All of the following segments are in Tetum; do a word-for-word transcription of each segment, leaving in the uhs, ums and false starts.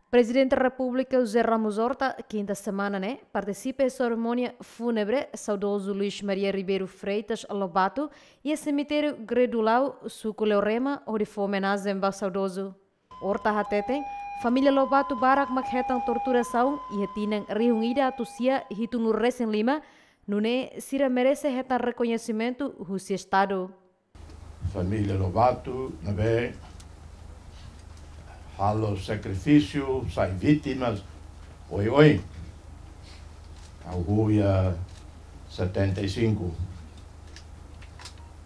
Prezidente Repúblika José Ramos Horta, kinta semana ne'e, partisipa iha serimónia fúnebre saudozu Luís Maria Ribeiro Freitas Lobato, iha semitériu Gredulau, suku Leorema, hodi fó omenajen ba saudozu. Horta hateten, família Lobato barak mak hetan torturasaun iha tinan rihun ida atus sia hitunulu resin lima, nune'e sira merese hetan rekoñesimentu husi Estadu. Família Lobato ne'ebé halo sakrifísiu, sai vítimas oioin. Ha'u huya setenta e cinco.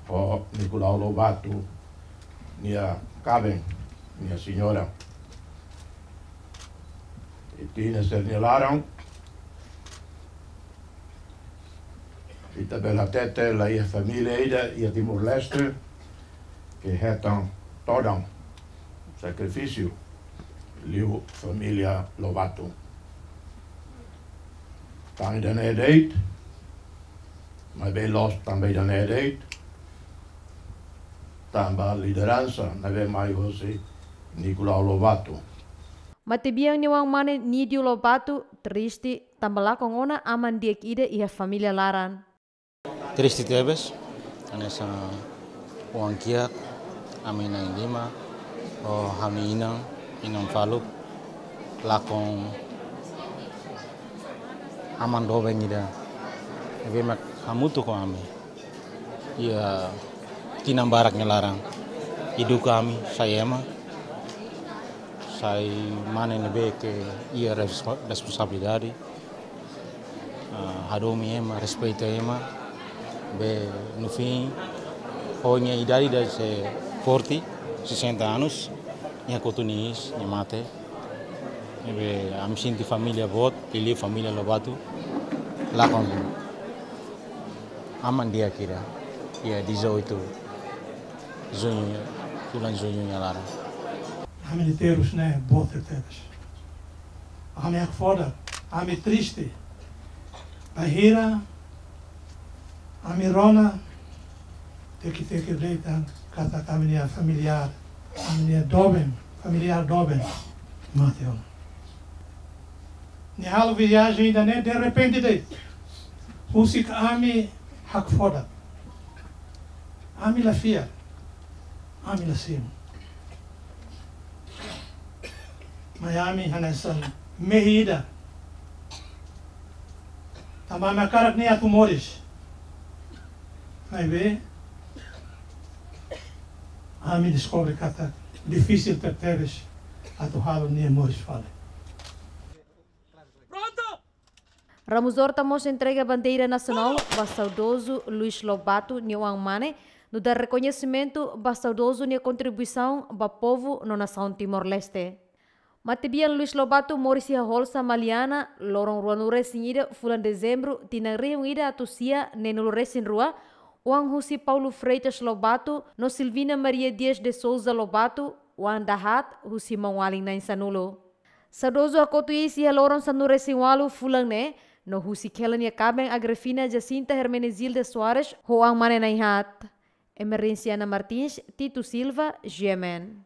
Ho Nicolau Lobato nia kaben, nia señora. I tinan sira-nia laran, ita bele hatete la iha família ida iha Timor-Leste ke hetan todan, sakrifísiu, liu família Lobato. Tan ida-ne'e de'it, maibé loos tanba ida-ne'e de'it, tanba lideransa ne'ebé mai hosi Nicolau Lobato. Matebian nia oan-mane Nídio Lobato triste tanba lakon ona aman di'ak ida iha família laran. Triste tebes, hanesan oan kiak, ami na'in lima, ho ha'u-nia inan, inan faluk, lakon aman doben ida ne'ebé mak hamutuk ho ami iha tinan barak nia laran. Eduka ami sai ema, sai mane ne'ebé ke iha res-, responsabilidade. Ah, hadomi ema, respeita ema, be no fim, ho nia idade ida sei forte, sessenta anos, nia kotu nia iis, nia mate. Ne'ebé ami sente família boot, liuliu família Lobato, lakon aman di'ak ida, iha dezoito Juñu, fulan Juñu nia laran. Ami-nia terus ne'e boot tebes. Ami hakfodak, ami triste. Bainhira ami rona, teki-teki de'it katak ami-nia familiár, ami-nia doben, familiár doben mate ona. Nia halo viajen ida-ne'e derrepente de'it. Husik ami hakfodak. Ami la fiar. Ami la simu. Mai ami hanesan mehi ida. Tanba ami hakarak nia atu moris. Maibé ami deskobre katak difisil tebetebes atu halo nia moris fali. Ramos Horta mós entrega bandeira nasionál ba saudozu Luís Lobato nia oan-mane, nu'udar rekoñesimentu ba saudozu nia kontribuisaun ba povu no nasaun Timor-Leste. Matebian Luís Lobato moris iha Holsa, Maliana, loron ruanulu resin ida fulan Dezembru, tinan rihun ida atus sia neenulu resin rua, oan husi Paulo Freitas Lobato no Silvina Maria Dias de Sousa Lobato, oan dahaat husi maun-alin na'in sanulu. Saudozu hakotu iis iha loron sanulu resin ualu fulan ne'e, no husik hela nia kaben Agrifina Jacinta Hermenegilda Soares ho oan-mane na'in haat. Emerenciana Martins, Tito Silva, G M N.